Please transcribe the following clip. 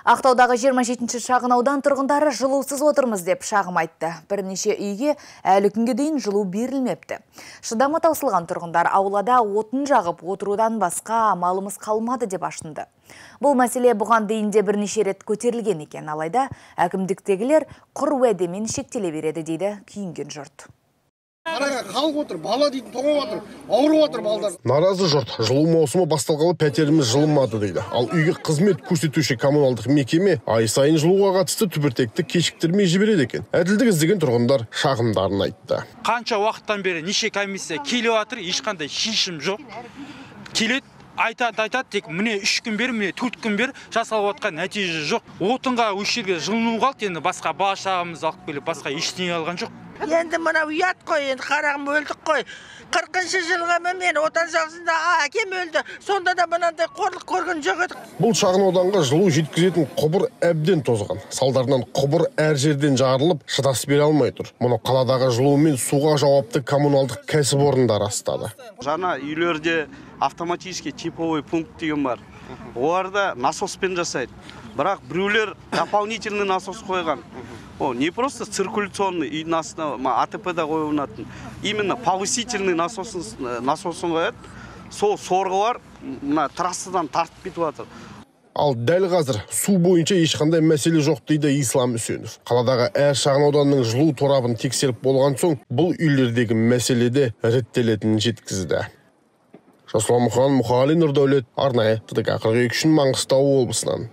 Ақтаудағы 27-ші шағын аудан тұрғындары жылусыз отырмыз деп шағым айтты. Бірнеше үйге әлі күнге дейін жылу берілмепті. Шыдамы таусылған тұрғындар аулада отын жағып отырудан басқа амалымыз қалмады деп ашынды. Бұл мәселе бұған дейін де бірнеше рет көтерілген екен, алайда әкімдіктегілер құр уәдемен шектеле береді дейді күйінген жұрт. Қараға халық отыр, бала дейтін тоңып отыр, ауырып отыр балдар. Наразы жұрт, жылу маусымы басталғалы пәтеріміз жылынмады дейді. Ал үйге қызмет көрсетуші коммуналдық мекеме ай сайын жылуға қатысты түбіртекті кешіктірмей жібереді екен. Әділдік іздеген тұрғындар шағымдарын айтты. Қанша уақыттан бері неше комиссия келіп жатыр, ешқандай шешім жоқ. Келеді, айтады, тек міне 3 күн бер, міне 4 күн бер жасалып жатқан нәтиже жоқ. Отынға осы жерге жылыну қалды, енді басқа бала шағамыз алып келіп, басқа ештеңе алған жоқ. Енді мына ұят қой, енді қарағым өлдік қой. 40-шы жылға мен отан соғысында әкем өлді. Сонда да мынандай қорлық көрген жоқ едік. Бұл шағын ауданға жылу жеткізетін құбыр әбден тозған. Салдарынан құбыр әр жерден жарылып, шыдас бере алмай тұр. Мұны қаладағы жылу мен суға жауапты коммуналдық кәсіпорындар растады. Жаңа үйлерде автоматический тепловой пункт деген бар. Оларда насоспен жасайды. Бірақ біреулер дополнительный насос қойған. Не просто циркуляционный үйдің астына АТП-да қойылатын, именно повысительный насосын қояды. Сол сорғылар трассадан тартып кетіп жатыр. Ал дәл қазір су бойынша ешқандай мәселе жоқ дейді Ислам Үсенов. Қаладағы әр шағын ауданның жылу торабын тексеріп болған соң, бұл үйлердегі мәселеде реттелетінін жеткізді. Жасұлан Мұқан, Мұқағали Нұрдәулет, арнайы ТДК 42 үшін Маңғыстау облысынан.